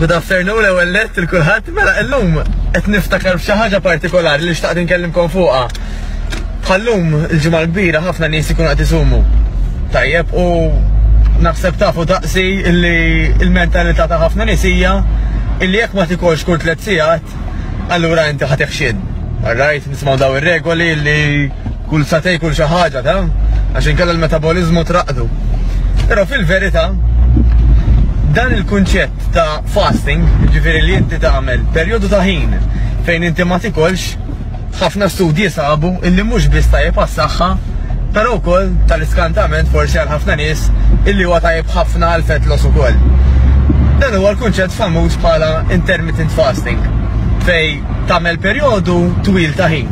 Good afternoon l-ewwel nett il kulħadd. Mela illum qed niftakar f'xi ħaġa partikolari li xtaqt inkellimkom fuqha. Bħallum il-ġimgħa l-kbira ħafna nies ikunu qed isumu. Tajjeb u naħseb tafu daqsi illi il-mentalità ta' ħafna nies hija illi jekk ma tikolx kull tliet sigħat, allura inti ħa teħxien. Alright, nisimgħu daw ir-regoli li kull satej kull xi ħaġa ta' għax inkella l-metaboliżmu traqdu. Però fil-verità dan il-kunċett ta' fasting, ġifieri li inti tagħmel perjodu ta' ħin fejn inti ma tikolx, ħafna studji sabu illi mhux biss tajjeb għas-saħħa, però wkoll tal-iskantament forsi għal ħafna nies illi huwa tajjeb ħafna għal fat loss ukoll. Dan huwa l-kunċett famuż bħala intermittent fasting, fejn tagħmel perjodu twil ta' ħin.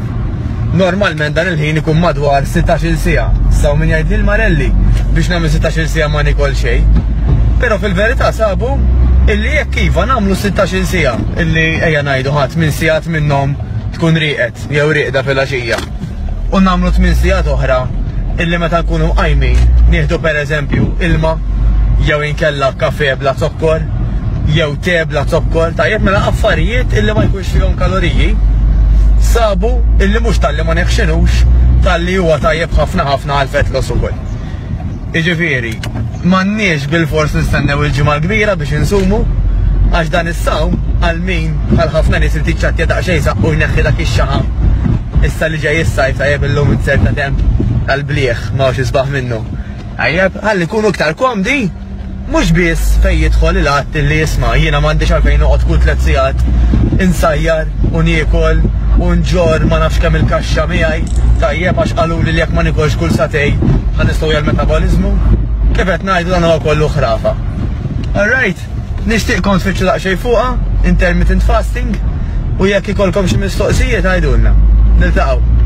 Normalment dan il-ħin ikun madwar 16-il siegħa. Issa hawn min jgħidli l-Marelli biex nagħmel 16-il siegħa ma nikol xejn. Però fil-verità sabu illi jekk iva nagħmlu 16-il siegħa illi ejja ngħidu ħadd minn sigħat minnhom tkun rieqed jew rieqda filgħaxija u nagħmlu tmien sigħat oħra illi meta nkunu mqajmin nieħdu pereżempju ilma jew inkella kafè bla zokkor jew te bla zokkor, tajjeb mela affarijiet illi ma jkunx fihom kaloriji sabu illi mhux talli ma neħxinux talli huwa tajjeb ħafna ħafna għal fat loss ukoll. Jiġifieri, m'għandniex bilfors nistennew il-Ġimgħa l-Kbira biex insumu, għax dan is-sawm għal min bħal ħafna nies irid jiċċattja daqsxejn saqqu jneħħi dak ix-xaħam. Issa li ġej is-sajf tajjeb illum inzerta temp tal-blieh ma hawnx isbaħ minnu. Tajjeb, ħalli nkunu iktar komdi Mhux biss fejn jidħol il-att li isma' jiena m'għandix għalfejn noqgħod kull tlett sigħat insajjar u niekol u nġorr ma nafx kemm il-kaxxa miegħi, tajjeb għax qaluli li jekk ma nikolx kull sagħtejn ħa nistowja l-metaboliżmu. Kif qed ngħidu dan huwa kollu ħrafa. Alright, nixtieqkom tfittxu daqsxejn fuqha, intermittent fasting, u jekk ikollkom xi mistoqsijiet għidulna. Niltaqgħu.